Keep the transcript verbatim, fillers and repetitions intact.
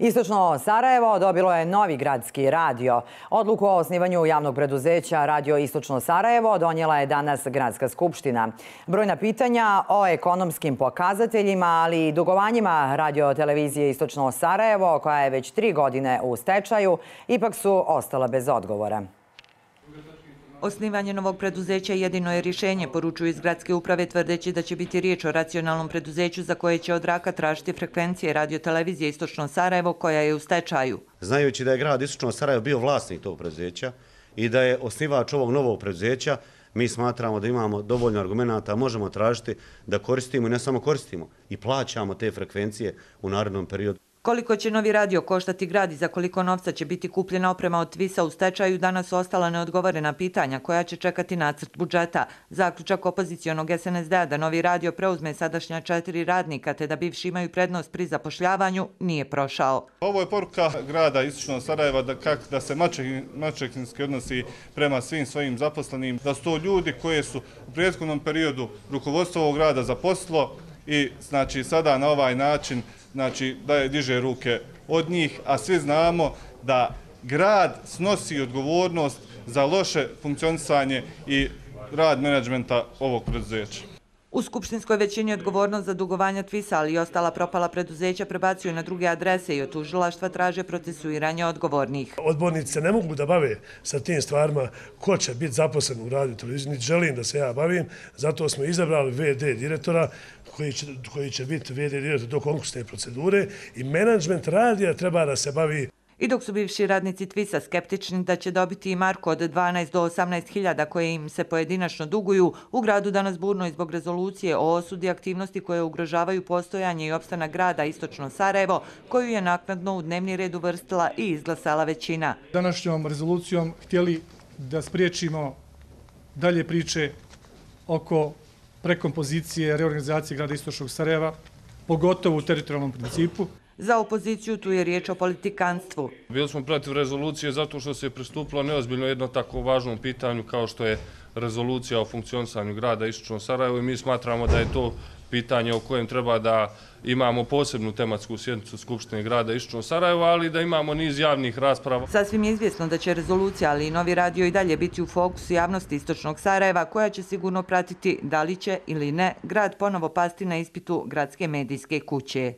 Istočno Sarajevo dobilo je novi gradski radio. Odluku o osnivanju javnog preduzeća Radio Istočno Sarajevo donijela je danas Gradska skupština. Brojna pitanja o ekonomskim pokazateljima, ali i dugovanjima radiotelevizije Istočno Sarajevo, koja je već tri godine u stečaju, ipak su ostala bez odgovora. Osnivanje novog preduzeća jedino je rješenje, poručuju iz gradske uprave, tvrdeći da će biti riječ o racionalnom preduzeću za koje će od Raka tražiti frekvencije radiotelevizije Istočno Sarajevo, koja je u stečaju. Znajući da je grad Istočno Sarajevo bio vlasnik tog preduzeća i da je osnivač ovog novog preduzeća, mi smatramo da imamo dovoljno argumenata, možemo tražiti da koristimo i ne samo koristimo, i plaćamo te frekvencije u narednom periodu. Koliko će novi radio koštati grad i za koliko novca će biti kupljena oprema od Tvisa u stečaju, danas su ostala neodgovorena pitanja koja će čekati nacrt budžeta. Zaključak opozicionog S N S D-a da novi radio preuzme sadašnja četiri radnika te da bivši imaju prednost pri zapošljavanju nije prošao. Ovo je poruka grada Istočno Sarajeva da, kak, da se maćehinski odnosi prema svim svojim zaposlenim, da su to ljudi koji su u prethodnom periodu rukovodstvo ovog grada zaposlilo i znači sada na ovaj način znači da je diže ruke od njih, a svi znamo da grad snosi odgovornost za loše funkcionisanje i rad menadžmenta ovog preduzeća. U skupštinskoj većini odgovornost za dugovanja Tvisa, ali i ostala propala preduzeća prebacuju na druge adrese i od tužilaštva traže procesuiranje odgovornih. Odbornici se ne mogu da bave sa tim stvarima ko će biti zaposlen u radio televiziji, niti želim da se ja bavim, zato smo izabrali ve de direktora koji će, koji će biti ve de direktor do konkursne procedure i menadžment radija treba da se bavi. I dok su bivši radnici Tvisa skeptični da će dobiti i marku od dvanaest do osamnaest hiljada koje im se pojedinačno duguju, u gradu danas burno i zbog rezolucije o osudi aktivnosti koje ugrožavaju postojanje i opstanak grada Istočno Sarajevo, koju je naknadno u dnevni red uvrstila i izglasala većina. Današnjom rezolucijom htjeli da spriječimo dalje priče oko prekompozicije reorganizacije grada Istočnog Sarajeva, pogotovo u teritorijalnom principu. Za opoziciju tu je riječ o politikanstvu. Bili smo protiv rezolucije zato što se je pristupilo neozbiljno jedno tako važnom pitanju kao što je rezolucija o funkcionisanju grada Istočno Sarajevo i mi smatramo da je to pitanje o kojem treba da imamo posebnu tematsku sjednicu Skupštine grada Istočno Sarajevo, ali da imamo niz javnih rasprava. Sasvim je izvjesno da će rezolucija, ali i novi radio i dalje biti u fokusu javnosti Istočnog Sarajeva, koja će sigurno pratiti da li će ili ne grad ponovo pasti na ispitu gradske medijske kuće.